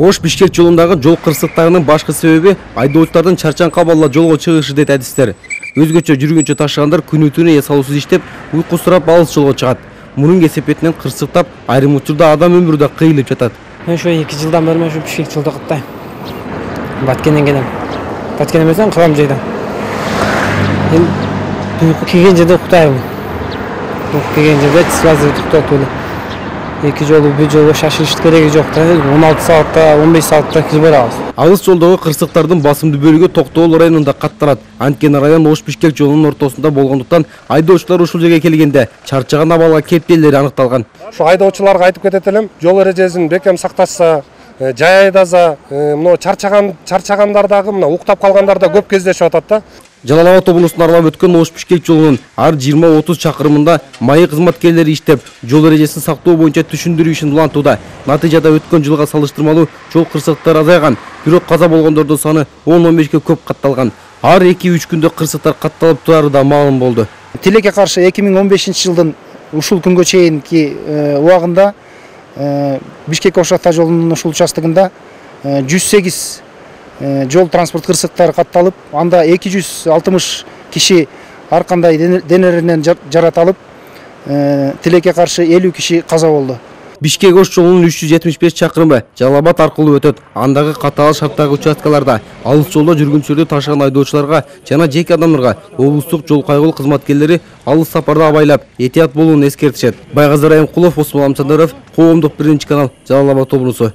Ош-Бишкек жолундагы жол кырсыктарынын башкы себеби айдоочулардын чарчаң кабалла жолго чыгышы дейт адистер. Өзгөчө жүргүнчү ташыгандар күнү-түнү эс алуусуз иштеп, уйку сурап алыс жолго чыгат. Мунун кесепетинен кырсыктап, айрым учурда адам өмүрү да кыйылып жатат. Мен ошо 2 жылдан бери ошо Бишкек жолдо каттайм. Баткенден келем. Баткен эмесем Кырам жайда. Мен уйку келген жерде уктайм. Уйку келген жерде связь туктатып эле. 2 жолу бир жолго шашылыш кереги жок да. 16 саатта, 15 саатта кирип барабыз. Алыс жолдогу кырсыктардын басымдуу бөлүгү Токтогул районунда катталат. Анткени район Ош-Бишкек жолунун ортосунда болгондуктан айдоочулар ушул жерге келгенде чарчаган абалга кептелleri аныкталган. Ошо айдоочуларга айтып кетет элем, жол эрежесин бекем сакташса, жай айдаса, мына чарчагандардагы мына уктап калгандар да көп кездешип атат да. Жалал Абад облусун аралап өткөн Ош-Бишкек жолунун ар 20-30 чакырымында майы кызматкерлери иштеп, жол эрежесин сактоо боюнча түшүндүрүү ишин улантууда. Натыйжада өткөн жылга салыштырмалуу жол кырсыктары азайган, бирок каза болгондордун саны 10-15ке көп катталган. Ар 2-3 күндө кырсыктар катталып турары да маалым болду. Тилекке каршы 2015-жылдын ушул күнгө чейинки убагында Бишкек-Ош ата жолунун ушул участогунда 108 жол транспорт кырсыктары катталып, анда 260 киши ар кандай денелеринен жараталып, тилекке каршы 50 киши каза болду. Бишкек-Ош жолунун 375 чакырымы Жалал Абад аркылуу өтөт. Андагы катаал шарттагы участкаларда алыс жолдо жүргүнчүлөрдү ташыган айдоочуларга жана жеке адамдарга облустук жол кайгылуу кызматкерлери алыс сапарда абайлап, этият болууну эскертишет. Байгазы Райымкулов, Осмон Амсадыров, Коомдук 1 канал, Жалал Абад облусу.